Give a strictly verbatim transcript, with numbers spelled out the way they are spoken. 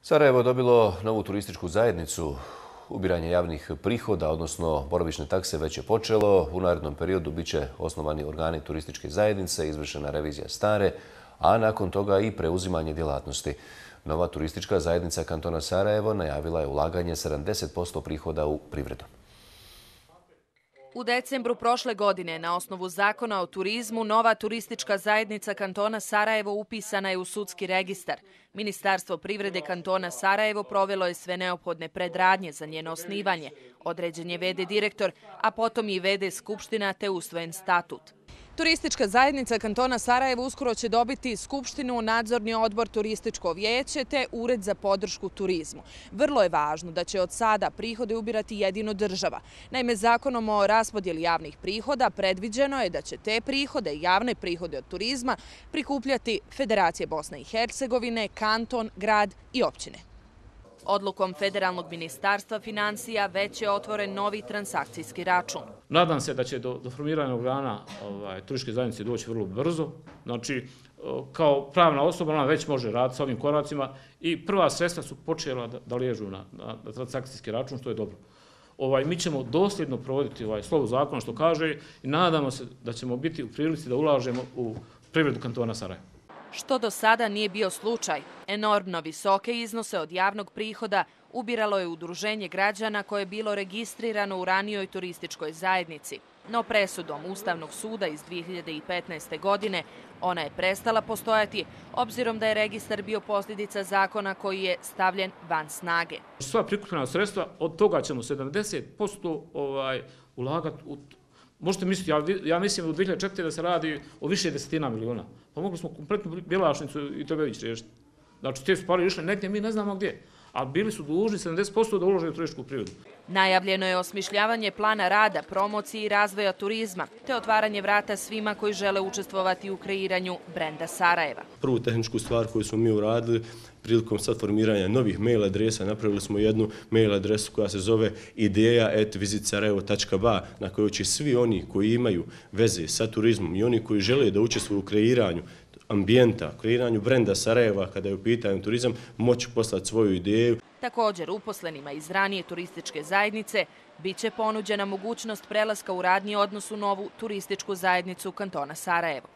Sarajevo je dobilo novu turističku zajednicu. Ubiranje javnih prihoda, odnosno boravišne takse, već je počelo. U narednom periodu bit će osnovani organi turističke zajednice, izvršena revizija stare, a nakon toga i preuzimanje djelatnosti. Nova turistička zajednica kantona Sarajevo najavila je ulaganje sedamdeset posto prihoda u privredu. U decembru prošle godine, na osnovu zakona o turizmu, nova turistička zajednica kantona Sarajevo upisana je u sudski registar. Ministarstvo privrede kantona Sarajevo provelo je sve neophodne predradnje za njeno osnivanje. Određen je ve de direktor, a potom i ve de skupština te usvojen statut. Turistička zajednica kantona Sarajevo uskoro će dobiti skupštinu, nadzorni odbor, turističko vijeće te ured za podršku turizmu. Vrlo je važno da će od sada prihode ubirati jedino država. Naime, zakonom o raspodjeli javnih prihoda predviđeno je da će te prihode, javne prihode od turizma, prikupljati Federacija Bosne i Hercegovine, kanton, grad i općine. Odlukom Federalnog ministarstva financija već je otvoren novi transakcijski račun. Nadam se da će do, do formiranja organa ovaj, turističke zajednice doći vrlo brzo. Znači, kao pravna osoba ona već može raditi s ovim koracima i prva sredstva su počela da, da liježu na, na, na transakcijski račun, što je dobro. Ovaj, mi ćemo dosljedno provoditi ovaj slovo zakona što kaže i nadamo se da ćemo biti u prilici da ulažemo u privredu kantona Sarajevo. Što do sada nije bio slučaj. Enormno visoke iznose od javnog prihoda ubiralo je udruženje građana koje je bilo registrirano u ranijoj turističkoj zajednici. No presudom Ustavnog suda iz dvije hiljade petnaeste. godine ona je prestala postojati, obzirom da je registar bio posljedica zakona koji je stavljen van snage. Sva prikupljena sredstva, od toga ćemo sedamdeset posto ovaj, ulagati u... Možete misliti, ja, ja mislim u dvije hiljade četvrte. da se radi o više desetina miliona. Pa mogli smo kompletnu Bjelašnicu i Trbević riješiti. Znači, te su pare išle negdje, mi ne znamo gdje. A bili su dužni sedamdeset posto da ulože u turističku privredu. Najavljeno je osmišljavanje plana rada, promocije i razvoja turizma, te otvaranje vrata svima koji žele učestvovati u kreiranju brenda Sarajeva. Prvu tehničku stvar koju smo mi uradili, prilikom sad formiranja novih mail adresa, napravili smo jednu mail adresu koja se zove ideja at visit sarajevo tačka ba, na kojoj će svi oni koji imaju veze sa turizmom i oni koji žele da učestvuju u kreiranju ambijenta, kreiranju brenda Sarajeva kada je u pitanju turizam, moći poslati svoju ideju. Također, uposlenima iz ranije turističke zajednice bit će ponuđena mogućnost prelaska u radni odnos u novu turističku zajednicu kantona Sarajevo.